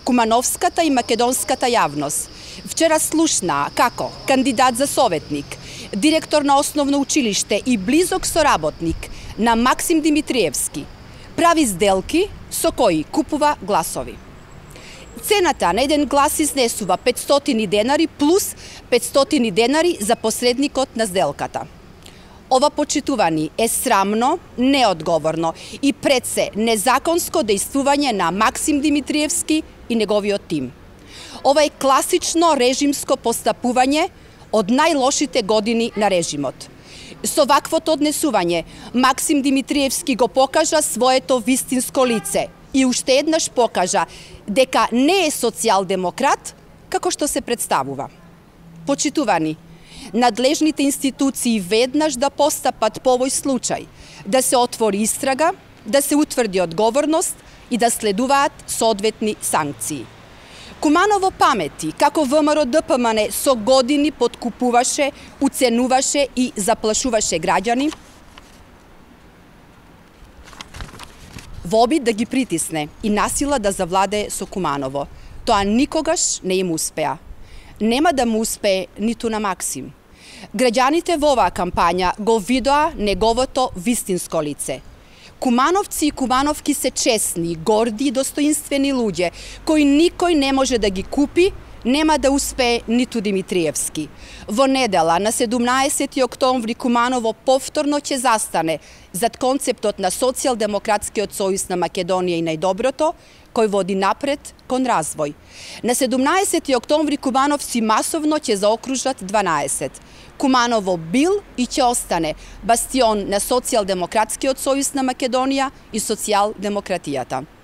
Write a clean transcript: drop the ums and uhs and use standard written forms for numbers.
Кумановската и македонската јавност вчера слушна како кандидат за советник, директор на основно училиште и близок соработник на Максим Димитриевски прави сделки со кои купува гласови. Цената на еден глас изнесува 500 денари плюс 500 денари за посредникот на сделката. Ова, почитувани, е срамно, неодговорно и пред се незаконско дејствување на Максим Димитриевски и неговиот тим. Ова е класично режимско постапување од најлошите години на режимот. Со ваквото однесување, Максим Димитриевски го покажа своето вистинско лице и уште еднаш покажа дека не е социјалдемократ како што се представува. Почитувани, надлежните институции веднаш да постапат по овој случај, да се отвори истрага, да се утврди одговорност и да следуваат соодветни санкции. Куманово памети како ВМРО-ДПМН со години подкупуваше, уценуваше и заплашуваше граѓани во обид да ги притисне и насила да завладее со Куманово. Тоа никогаш не им успеа. Нема да му успее ниту на Максим. Граѓаните во оваа кампања го видоа неговото вистинско лице. Кумановци и кумановки се честни, горди и достоинствени луѓе, кои никој не може да ги купи, нема да успее ниту Димитриевски. Во недела, на 17 октомври, Куманово повторно ќе застане зад концептот на Социјалдемократскиот сојуз на Македонија и најдоброто, кој води напред кон развој. На 17 октомври кумановци масовно ќе заокружат 12. Куманово бил и ќе остане бастион на Социјалдемократскиот сојуз на Македонија и социјалдемократијата.